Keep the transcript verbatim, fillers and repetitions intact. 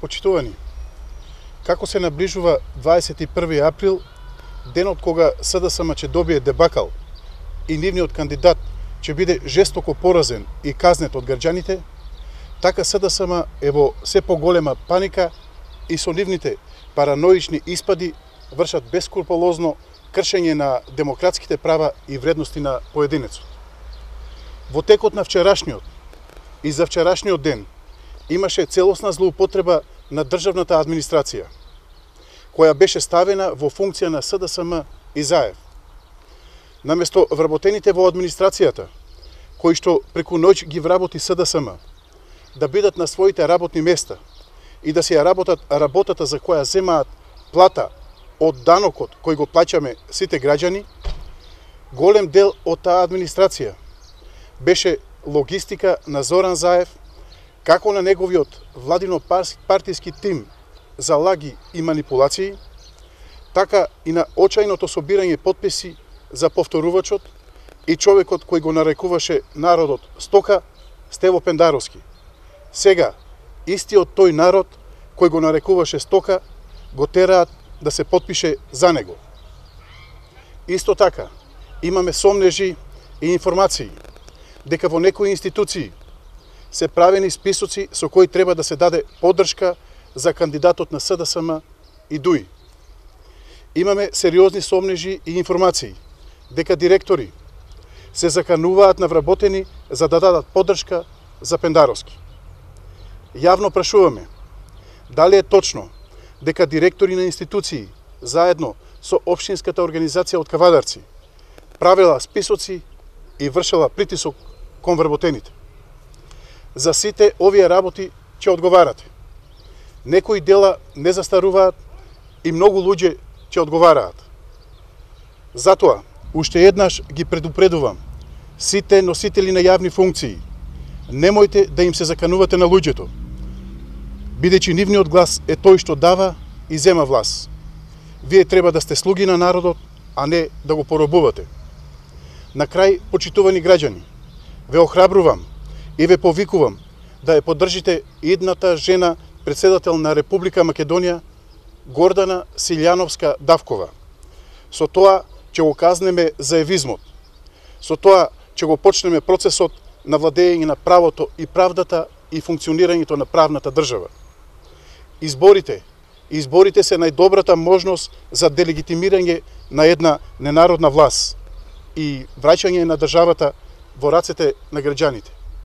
Почитувани, како се наближува дваесет и први април, денот кога СДСМ ќе добие дебакал и нивниот кандидат ќе биде жестоко поразен и казнет од граѓаните, така СДСМ е во се поголема паника и со нивните параноични испади вршат бескрупулозно кршење на демократските права и вредности на поединецот. Во текот на вчерашниот и за вчерашниот ден имаше целосна злоупотреба на државната администрација, која беше ставена во функција на СДСМ и ЗАЕВ. Наместо вработените во администрацијата, кои што преку ноќ ги вработи СДСМ, да бидат на своите работни места и да се ја работат работата за која земаат плата од данокот кој го плаќаме сите граѓани, голем дел од таа администрација беше логистика на Зоран Заев, како на неговиот владино-партиски тим за лаги и манипулации, така и на очајното собирање потписи за повторувачот и човекот кој го нарекуваше народот стока, Стево Пендаровски. Сега, истиот тој народ кој го нарекуваше стока, го тераат да се потпише за него. Исто така, имаме сомнежи и информации дека во некои институции се правени списоци со кои треба да се даде поддршка за кандидатот на СДСМ и ДУИ. Имаме сериозни сомнежи и информации дека директори се закануваат на вработени за да дадат поддршка за Пендаровски. Јавно прашуваме дали е точно дека директори на институции заедно со општинската организација од Кавадарци правела списоци и вршела притисок кон вработените. За сите овие работи ќе одговарате. Некои дела не застаруваат и многу луѓе ќе одговараат. Затоа, уште еднаш ги предупредувам сите носители на јавни функции, немојте да им се заканувате на луѓето, бидејќи нивниот глас е тој што дава и зема власт. Вие треба да сте слуги на народот, а не да го поробувате. На крај, почитувани граѓани, ве охрабрувам и ве повикувам да ја поддржите идната жена председател на Република Македонија, Гордана Силјановска Давкова. Со тоа ќе го казнеме заевизмот. Со тоа ќе го почнеме процесот на владење на правото и правдата и функционирањето на правната држава. Изборите, изборите се најдобрата можност за делегитимирање на една ненародна власт и враќање на државата во рацете на граѓаните.